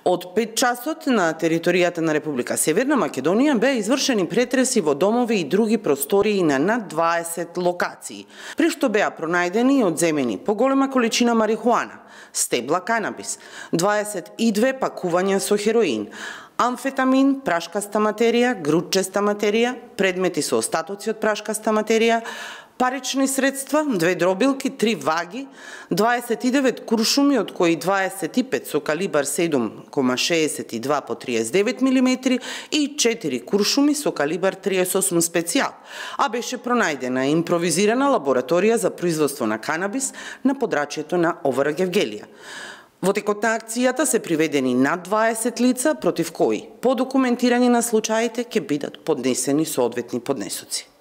Од 5 часот на територијата на Република Северна Македонија беа извршени претреси во домови и други простории на над 20 локации, при што беа пронајдени и одземени поголема количина марихуана, стебла канабис, 22 пакувања со хероин, амфетамин, прашкаста материја, грудчеста материја, предмети со остатоци од прашкаста материја, парични средства, 2 дробилки, 3 ваги, 29 куршуми, од кои 25 со калибар 7,62 по 39 мм и 4 куршуми со калибар 38 специјал, а беше пронајдена импровизирана лабораторија за производство на канабис на подрачјето на Овара Гевгелија. Во текот на акцијата се приведени над 20 лица, против кои по документирање на случаите ќе бидат поднесени соодветни поднесоци.